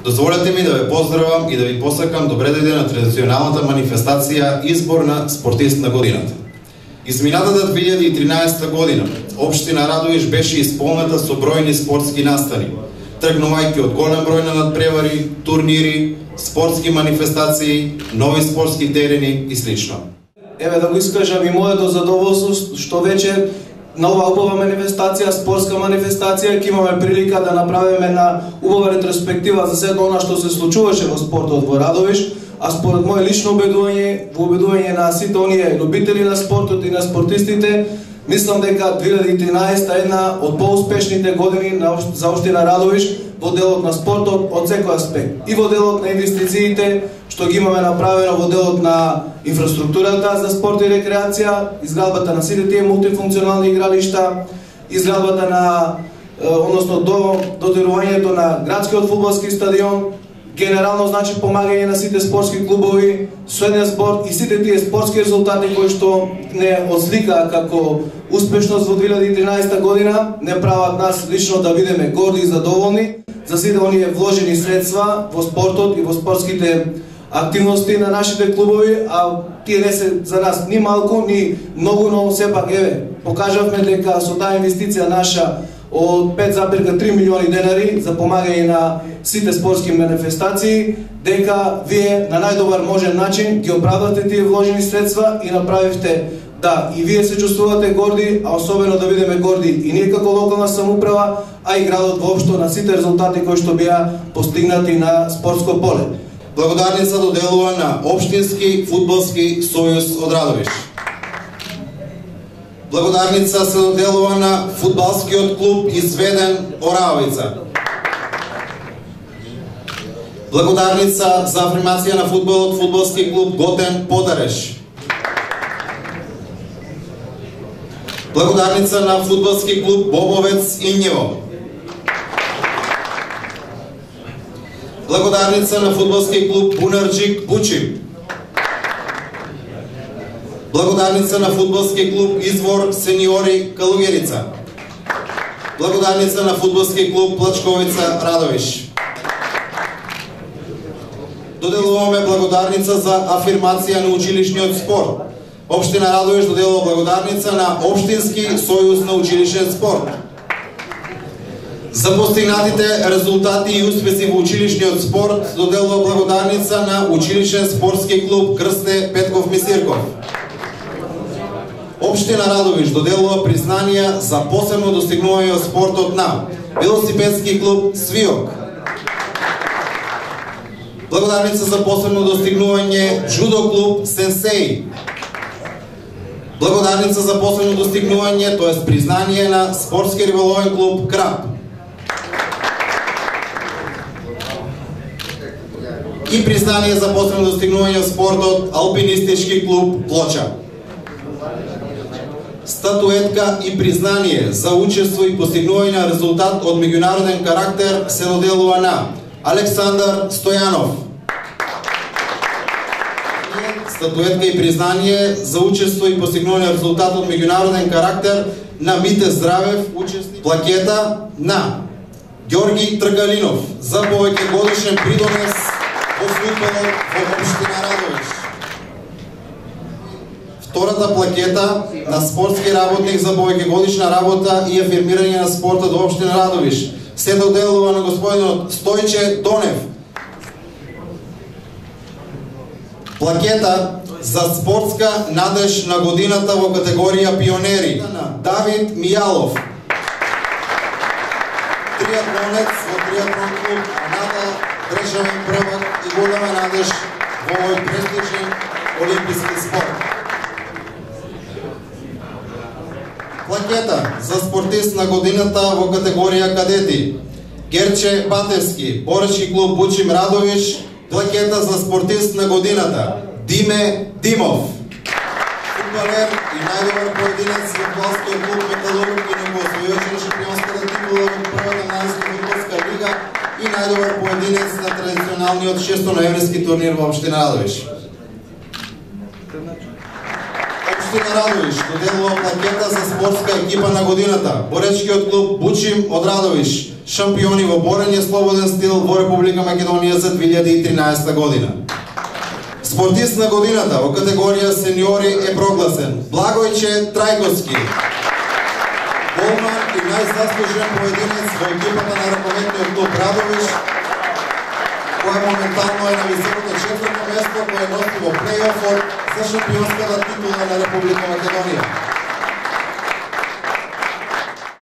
Дозволете ми да ве поздравам и да ви посакам добре дојде на традиционалната манифестација избор на спортист на годината. Изминатата 2013 година општина Радовиш беше исполнета со бројни спортски настани, тргнувајќи од голем број на надпревари, турнири, спортски манифестации, нови спортски терени и слично. Еве да го искажам и моето задоволство што веќе на оваа убава манифестација, спортска манифестација, ќе имаме прилика да направиме на убава ретроспектива за сето она што се случуваше во спортот во Радовиш, а според моје лично убедување, во убедување на сите оние любители на спортот и на спортистите, мислам дека 2013 е една од поуспешните години за општина Радовиш во делот на спортот од секој аспект. И во делот на инвестициите, што ги имаме направено во делот на инфраструктурата за спорт и рекреација, изградбата на сите тие мултифункционални игралишта, изградбата на, односно дотерувањето на градскиот фудбалски стадион, генерално значи помагање на сите спортски клубови, средниот спорт и сите тие спортски резултати кои што не осликаа како успешност во 2013 година, не прават нас лично да бидеме горди и задоволни за сите оние вложени средства во спортот и во спортските активности на нашите клубови, а тие не се за нас ни малку, ни многу, но сепак еве, покажавме дека со таа инвестиција наша од 5,3 милиони денари за помагање на сите спортски манифестации, дека вие на најдобар можен начин ги оправдавте тие вложени средства и направивте да и вие се чувствувате горди, а особено да бидеме горди и ние како локална самоуправа, а и градот воопшто на сите резултати кои што беа постигнати на спортско поле. Благодарница доделува на Општински фудбалски сојуз од Радовиш. Благодарница се доделува на фудбалскиот клуб Изведен Оравица. Благодарница за афирмација на фудбалот фудбалски клуб Готен Подареш. Благодарница на фудбалски клуб Бобовец Инјево. Благодарница на фудбалски клуб Бунарджик Бучим. Благодарница на фудбалски клуб Извор Сениори Калугерица. Благодарница на фудбалски клуб Плачковица Радовиш. Доделуваме благодарница за афирмација на училишниот спорт. Општина Радовиш доделува благодарница на Општински сојуз на училишен спорт. За постигнатите резултати и успеси во училишниот спорт доделува благодарница на училишен спортски клуб Крсте Петков Мисирков. Општина Радовиш доделува признанија за посебно достигнување во спортот на велосипедски клуб Свиок. Благодарница за посебно достигнување джудо клуб Сенсеј. Благодарница за посебно достигнување, тоест признание на спортски риболовен клуб Крап. И признание за посебно достигнување во спортот Алпинистички клуб Плоча. Статуетка и признание за учество и постигнување на резултат од меѓународен карактер се доделува на Александар Стојанов. Статуетка и признание за учество и постигнување на резултат од меѓународен карактер на Мите Здравев, учесник. Плакета на Ѓорги Тргалинов за повеќе годишен придонес во фудбалот во општина Радовиш. Втората плакета на спортски работник за повеќе годишна работа и афирмирање на спортот во општина Радовиш се доделува на господинот Стојче Донев. Плакета за спортска надеж на годината во категорија пионери Давид Мијалов. Триатлонец во триатлон клуб Аната, државен првак и голема надеж во овој престижен олимписки спорт. Плакета за спортист на годината во категорија кадети Герче Батевски, боречки клуб Бучим Радовиш. Плакета за спортист на годината Диме Димов, фудбалер и најдобар поединец во фудбалскиот клуб Металург и него освојуваше шампионската титула во првата најската фудбалска лига и најдобар поединец на традиционалниот 6-ноемвриски турнир во општина Радовиш. Општина Радовиш доделува плакета за спортска екипа на годината боречкиот клуб Бучим од Радовиш. шампиони во борење слободен стил во Република Македонија за 2013 година. Спортист на годината во категорија сениори е прогласен Благојче Трајковски, голман и најзаслужен поединец во екипата на ракометниот клуб Радовиш, која моментално е на високото 4-то место, која носи во плей-офот за шампионската титула на Република Македонија.